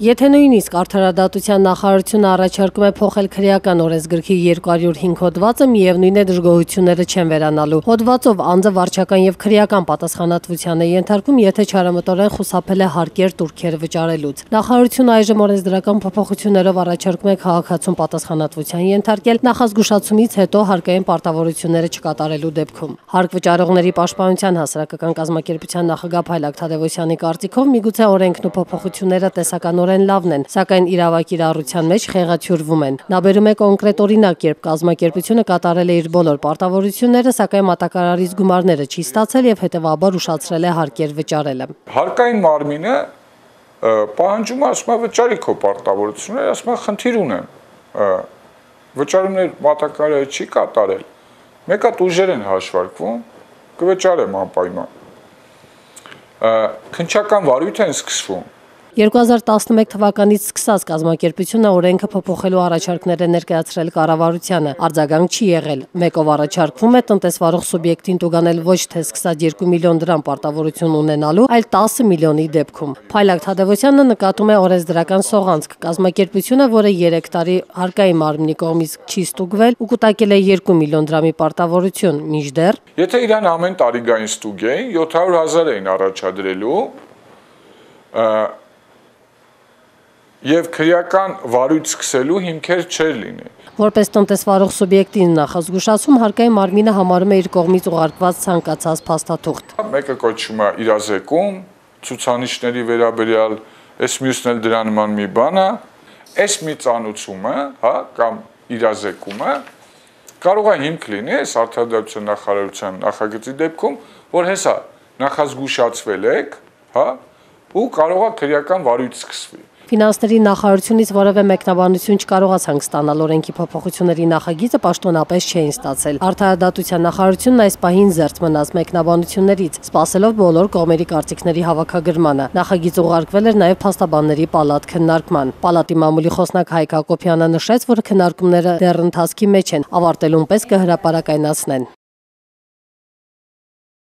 Եթե նույնիսկ Արդարադատության նախարարությունը առաջարկում է փոխել քրեական օրենսգրքի 205 հոդվածը, միևնույն է դժգոհությունները չեն վերանալու։ Հոդվածով անձը վարչական եւ քրեական պատասխանատվության է ենթարկվում, եթե չարամտորեն խուսափել է հարկեր տուրքեր վճարելուց։ Նախարարությունը այժմ օրենսդրական փոփոխություններով առաջարկում է քաղաքացուն պատասխանատվության ենթարկել նախազգուշացումից հետո հարկային պարտավորությունները չկատարելու դեպքում։ Հարկ վճարողների պաշտպանության հասարակական կազմակերպության նախագահ Փայլակ Թադևոսյանի կարծիքով միգուցե օրենքն ու փոփոխությունները տեսականորեն լավն են, սակայն իրավակիրառության մեջ խեղաթյուրվում են։ Նա բերում է կոնկրետ օրինակ, երբ կազմակերպությունը կատարել է իր բոլոր պարտավորությունները, սակայն մատակարարից գումարները չի ստացել եւ հետեւաբար ուշացրել է հարկեր վճարելը։ Հարկային մարմինը պահանջում է, ասում է վճարի քո պարտավորությունները, ասում է խնդիր ունեմ։ Վճարումներ մատակարարը չի կատարել։ Մեկ հատ ուժեր են հաշվարկվում, կվճարեմ անպայման։ Քննչական վարույթ են սկսվում։ 2011 թվականից սկսած կազմակերպությունը օրենքը փոփոխելու առաջարկներ է ներկայացրել կառավարությանը, արձագանք չի եղել։ Մեկով առաջարկվում է տնտեսվարող սուբյեկտին տուգանել ոչ թե սկսած 2 միլիոն դրամ պարտավորություն ունենալու, այլ 10 միլիոնի դեպքում։ Փայլակ Թադևոսյանը նկատում է օրենսդրական սողանցք։ Կազմակերպությունը, որը 3 տարի հարկային մարմնի կողմից չի ստուգվել ու կուտակել է 2 միլիոն դրամի պարտավորություն, մինչդեռ Եթե իրան ամեն տարի գային ստուգեին, 700,000 էին առաջադրելու, եւ քրեական վարույթ սկսելու հիմքեր չէր լինի։ Որպես տնտեսվարող սուբյեկտին նախազգուշացում հարկային մարմինը համարում է իր կողմից ուղարկված ցանկացած փաստաթուղթ։ Մեկը կոչվում է իրազեկում, ցուցանիշների վերաբերյալ, այս մյուսն էլ դրա նման մի բան է, այս մի ծանուցումը, հա, կամ իրազեկումը կարող է հիմք լինի այս Արդարադատության նախարարության նախագծի դեպքում, որ հեսա նախազգուշացվել եք, հա, ու կարող է քրեական վարույթ սկսվի։ Ֆինանսների նախարարությունից որևէ մեկնաբանություն չկարողացանք ստանալ օրենքի փոփոխությունների նախագիծը պաշտոնապես չէին ստացել։ Արդարադատության նախարարությունն այս պահին զերծ մնաց մեկնաբանություններից, սպասելով բոլոր կողմերի կարծիքների հավաքագրմանը։ Նախագիծը ուղարկվել էր նաև փաստաբանների պալատ քննարկման։ Պալատի մամուլի խոսնակ Հայկ Հակոբյանը նշեց, որ քննարկումները դեռ ընթացքի մեջ են, ավարտելուն պես կհրապարակայնացնեն։